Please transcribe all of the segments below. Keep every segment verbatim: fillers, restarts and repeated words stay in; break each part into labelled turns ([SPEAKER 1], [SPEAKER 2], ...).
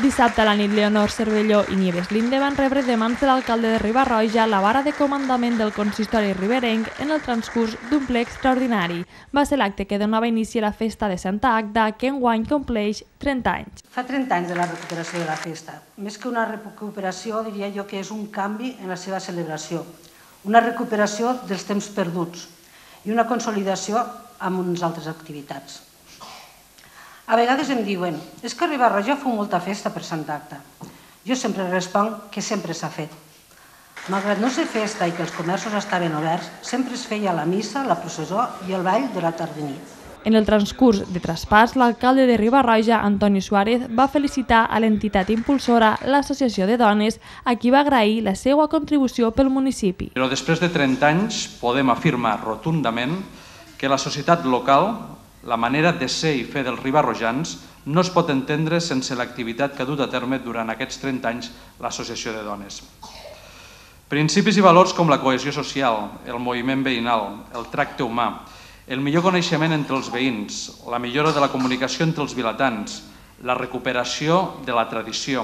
[SPEAKER 1] Dissabte a la nit, Leonor Cervelló i Nieves Linde van rebre de mans de l'alcalde de Riba-roja la vara de comandament del consistori riberenc en el transcurs d'un ple extraordinari. Va ser l'acte que donava inici a la festa de Santa Agda, que enguany compleix trenta anys.
[SPEAKER 2] Fa trenta anys de la recuperació de la festa. Més que una recuperació, diria jo que és un canvi en la seva celebració. Una recuperació dels temps perduts i una consolidació amb unes altres activitats. A vegades em diuen, és que a Riba-roja feu molta festa per Santa Agda. Jo sempre responc que sempre s'ha fet. Malgrat no ser festa i que els comerços estaven oberts, sempre es feia la missa, la processó i el ball de la tarda-nit.
[SPEAKER 1] En el transcurs de traspàs, l'alcalde de Riba-roja, Antoni Suárez, va felicitar a l'entitat impulsora, l'Associació de Dones, a qui va agrair la seva contribució pel municipi.
[SPEAKER 3] Però després de trenta anys podem afirmar rotundament que la societat local, la manera de ser i fer dels ribarrojans, no es pot entendre sense l'activitat que ha dut a terme durant aquests trenta anys l'Associació de Dones. Principis i valors com la cohesió social, el moviment veïnal, el tracte humà, el millor coneixement entre els veïns, la millora de la comunicació entre els vilatans, la recuperació de la tradició,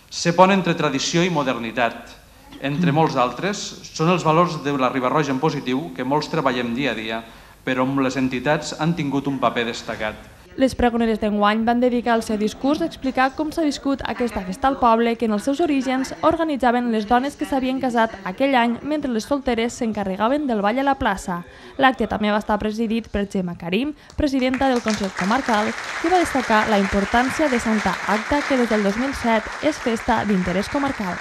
[SPEAKER 3] ser pont entre tradició i modernitat, entre molts altres, són els valors de la Riba-roja en positiu que molts treballem dia a dia, però on les entitats han tingut un paper destacat.
[SPEAKER 1] Les pregoneres d'enguany van dedicar el seu discurs a explicar com s'ha viscut aquesta festa al poble que en els seus orígens organitzaven les dones que s'havien casat aquell any mentre les solteres s'encarregaven del ball a la plaça. L'acte també va estar presidit per Gemma Karim, presidenta del Consell Comarcal, que va destacar la importància de Santa Agda, que des del dos mil set és festa d'interès comarcal.